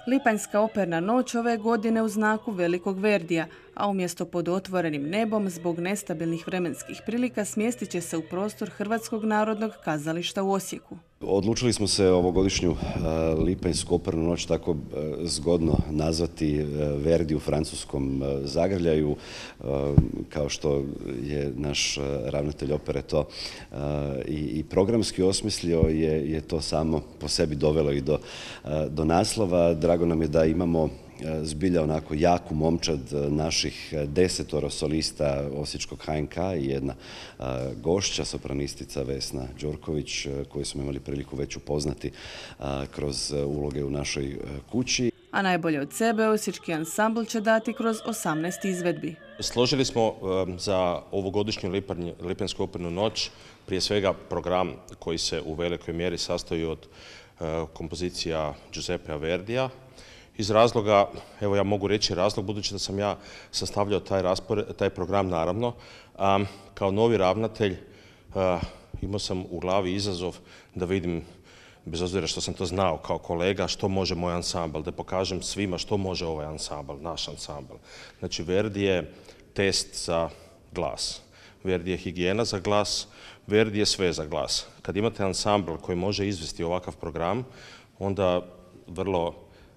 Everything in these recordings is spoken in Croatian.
Lipanjska operna noć ove godine u znaku velikog Verdija, a umjesto pod otvorenim nebom zbog nestabilnih vremenskih prilika smjestit će se u prostor Hrvatskog narodnog kazališta u Osijeku. Odlučili smo se ovogodišnju Lipanjsku opernu noć tako zgodno nazvati Verdi u francuskom zagrljaju, kao što je naš ravnatelj opere to i programski osmislio, je to samo po sebi dovelo i do naslova. Drago nam je da imamo zbilja onako jaku momčad naših 10 solista Osječkog HNK i jedna gošća, sopranistica Vesna Đorković, koju smo imali priliku već upoznati kroz uloge u našoj kući. A najbolje od sebe Osječki ansambl će dati kroz 18 izvedbi. Složili smo za ovogodišnju Lipanjsku opernu noć prije svega program koji se u velikoj mjeri sastoji od kompozicija Giuseppea Verdija. Iz razloga, evo ja mogu reći razlog, budući da sam ja sastavljao taj program naravno, kao novi ravnatelj imao sam u glavi izazov da vidim, bez obzira što sam to znao kao kolega, što može moj ansambl, da pokažem svima što može ovaj ansambl, naš ansambl. Znači, Verdi je test za glas, Verdi je higijena za glas, Verdi je sve za glas. Kad imate ansambl koji može izvesti ovakav program, onda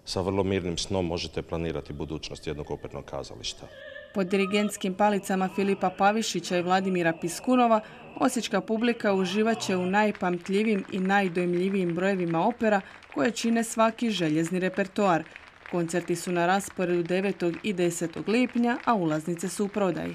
sa vrlo mirnim snom možete planirati budućnost jednog opernog kazališta. Pod dirigentskim palicama Filipa Pavišića i Vladimira Piskunova, osječka publika uživat će u najpamtljivijim i najdojmljivijim brojevima opera koje čine svaki željezni repertoar. Koncerti su na rasporedu 9. i 10. lipnja, a ulaznice su u prodaji.